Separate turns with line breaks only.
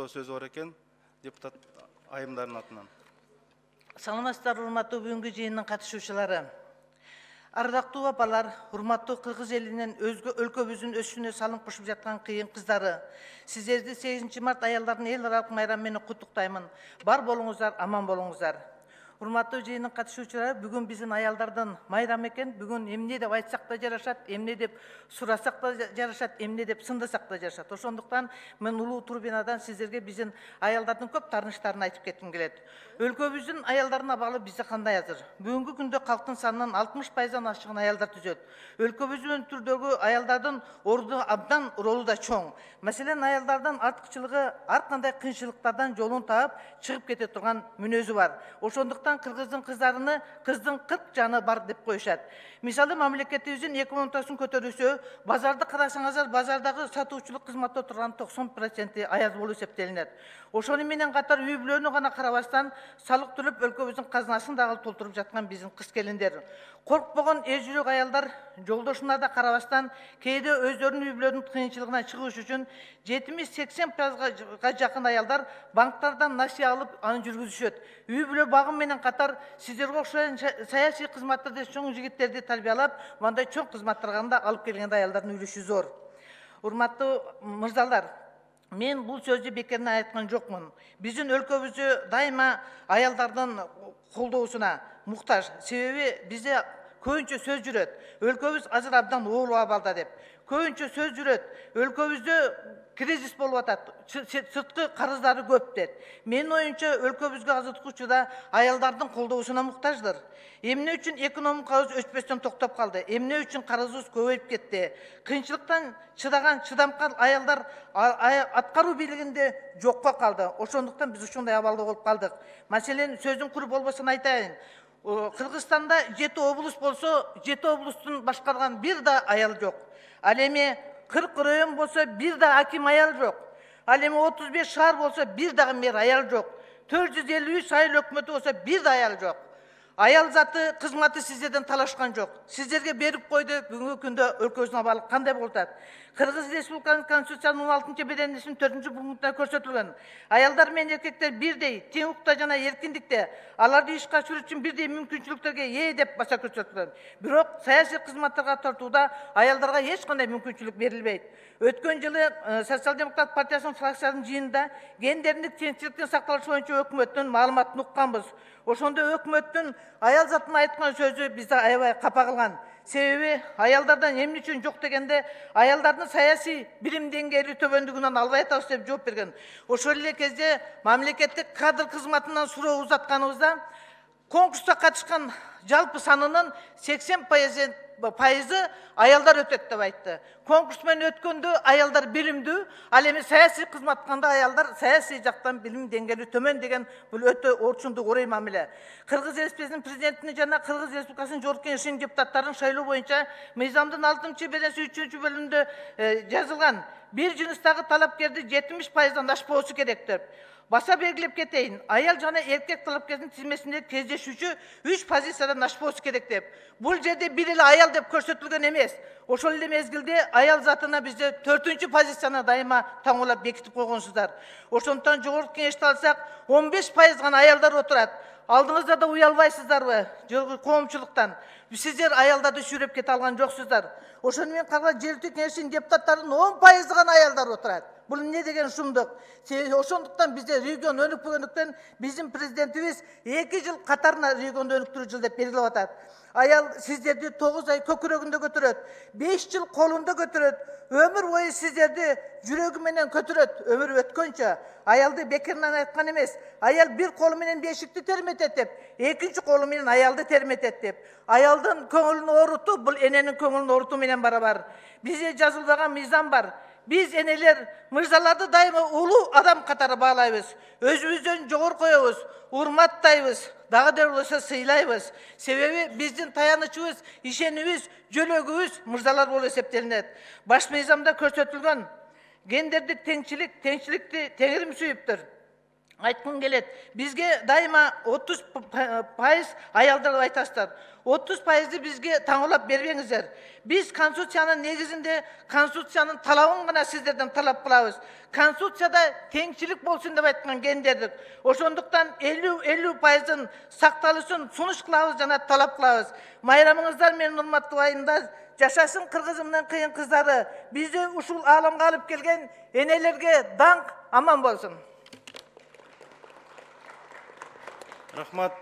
сөзү бар экен, депутат айымдардын атынан.
Саламатсыздар, урматтуу бүгүнкү жыйындын катышуучулары. Ардактуу апалар, урматтуу кыргыз элинин өзгө өлкөбүздүн өсүшүнө салым кошуп жаткан кыйын кыздары. Сиздерди 8 март аялдардын эл аралык майрамы менен куттуктаймын. Бар болуңуздар, аман болуңуздар. Урматтуу жыйындын катышуучулары, бүгүн биздин аялдардын майрамы экен. Бүгүн эмне деп айтсак да жарашат, эмне деп сурасак да жарашат, эмне деп сындасак да жарашат. Ошондуктан мен улуу турбинадан сиздерге биздин аялдардын көп тааныштарын айтып кетким келет. Өлкөбүздүн аялдарына абалы бизде кандай азыр? Бүгүнкү күндө калктын санынын 60%-дан ашыгын аялдар түзөт. Өлкөбүздүн түрдөгү аялдардын орду абдан ролу да чоң. Маселен, аялдардын артыкчылыгы ар кандай кыйынчылыктардан жолун таап чыгып кете турган мүнөзү бар. Ошондуктан кыргыздын кыздарыны кыздын 40 жаны бар деп коюшат. Мисалы, мамлекетибиздин экономикасын көтөрүүсү, базарды карасаңыздар, базардагы сатуучулук кызматта турган 90% аяз болуп эсептелинет. Ошону менен катар үй бүлөнү гана карабастан салык төлөп өлкөбүздүн казынасын дагы толтуруп жаткан биздин кыз келиндер. Коркпогон эз жүрөк аялдар жолдошуна да карабастан кээде өздөрүнүн үй бүлөнүн кыйынчылыгынан чыгыш үчүн 70-80%га жакын аялдар банктардан насыя алып аны жүргүзүшөт. Үй бүлө багым менен катар сиздерге окшогон саясий кызматтарда чоң жигиттерди тарбиялап, мындай чоң кызматтарга да алып келген аялдардын үлүшү зор. Урматтуу мырзалар, мен бул сөздү бекеринен айткан жокмун. Биздин өлкөбүздө дайыма аялдардын колдоосуна муктаж. Себеби бизде көбүнчө сөз жүрөт. Өлкөбүз азыр абдан оор абалда деп. Көбүнчө сөз жүрөт. Өлкөбүздө кризис болуп атат. Сырткы карыздары көп дейт. Менин оюмча өлкөбүзгө азыркы учурда аялдардын колдоосуна муктаждыр. Эмне үчүн экономикабыз өчпөстөн токтоп калды? Эмне үчүн карызыбыз көбөйүп кетти? Кыйынчылыктан чыдаган чыдамкал аялдар аткаруу бийлигинде жокко калды. Ошондуктан биз ушундай абалда болуп калдык. Маселен, сөздүн куру болбосун айтайын. Кыргызстанда 7 облус болсо, 7 облустун башкарган бир да аял жок. Ал эми 40 район болсо, бир да аким аял жок. Ал эми 35 шаар болсо, бир дагы мэр аял жок. 453 айыл өкмөтү болсо, бир да аял жок. Аял заты кызматы сиздерден талашкан жок. Сиздерге берип койду. Бүгүнкү күндө өлкөбүздүн абалы кандай болуп атат? Кыргыз Республикасынын Конституциянын 16-беденесинин 4-пунктунда көрсөтүлгөн. Аялдар менен эркектер бирдей, тең укукта жана эркиндикте, аларды ишке ашыруу үчүн бирдей мүмкүнчүлүктөргө ээ деп баса көрсөтүлгөн. Бирок саясий кызматтарга тартууда аялдарга эч кандай мүмкүнчүлүк берилбейт. Өткөн жылы Социал-демократ партиясынын фракциянын жыйынында гендердик теңчиликтин сакталышы боюнча өкмөттүн маалыматын укканбыз. Ошондо өкмөттүн аял затына айткан сөзү бизди аябай капа кылган. Себеби аялдардан эмне үчүн жок дегенде, аялдардын саясий билим деңгээли төмөндүгүнөн албай атабыз деп жооп берген. Ошол эле кезде мамлекеттик кадр кызматынан суроо узатканыбызда конкурска катышкан жалпы санынын 80% аялдар өтөт деп айтты. Конкурс менен өткөндө аялдар билимдүү, ал эми саясий кызматканда аялдар саясий жактан билим деңгээли төмөн деген бул өтө орчундук орой мамиле. Кыргыз Республикасынын президентини жана Кыргыз Республикасынын Жогорку Кеңешинин депутаттарын шайлоо боюнча мыйзамдын 6-беденеси 3-бөлүмүндө жазылган. Бир жыныстагы талапкерди 70%дан ашпоосу керек деп. Баса белгилеп кетейин, аял жана эркек талапкердин тизмесинде кездешүүчү 3 позициядан ашпоосу керек деп. Бул жерде бир эле аял деп көрсөтүлгөн эмес. Ошол эле мезгилде аял затына бизде 4-позицияны дайыма таңуулап бекитип койгонсуздар. Ошондуктан Жогорку Кеңешти алсак, 15% гана аялдар отурат. Алдыңызда да уялбайсыздарбы? Коомчулуктан. Сиздер аялдарды шүрөп кете алган жоксуздар. Ошону менен Кыргыз Жергиликтүү Кеңештин депутаттарынын 10% гана аялдар отурат. Бул эмне деген шумдук? Ошондуктан бизде регион өнүкпөгөндүктөн биздин президентибиз 2 жыл катарына регионду өнүктүрүү жыл деп белгилеп атат. Аял сиздерди 9 ай көкүрөгүндө көтөрөт, 5 жыл колунда көтөрөт, өмүр бою сиздерди жүрөгү менен көтөрөт, өмүр өткөнчө. Аялды бекеринен айткан эмес. Аял бир колу менен бешикти терметет деп, экинчи колу менен аялды терметет деп. Аялдын көңүлүн оорутуу бул эненин көңүлүн оорутуу менен барабар. Бизде жазылбаган мыйзам бар. Биз энелер мырзаларды дайыма улуу адам катары баалайбыз. Өзүбүздөн жогору коебуз, урматтайбыз, дагы да болсо сыйлайбыз. Себеби биздин таянычыбыз, ишенибиз, жөлөгүбүз мырзалар болуп эсептелинет. Баш мыйзамда көрсөтүлгөн гендердик теңчиликти теңирим сүйүптүр. айткым келет. Бизге дайыма 30% аялдар деп айтасыздар. 30%ды бизге таңылап бербеңиздер. Биз Конституциянын негизинде Конституциянын талабын гана сиздерден талап кылабыз. Конституцияда теңчилик болсун деп айткан гендердик. Ошондуктан 50% сакталышын сунуш кылабыз жана талап кылабыз. Майрамыңыздар менен урматтуу айымдар, жашасын кыргызымдын кыйын кыздары, бизди ушул ааламга алып келген энелерге даңк, аман болсун.
Рахмат.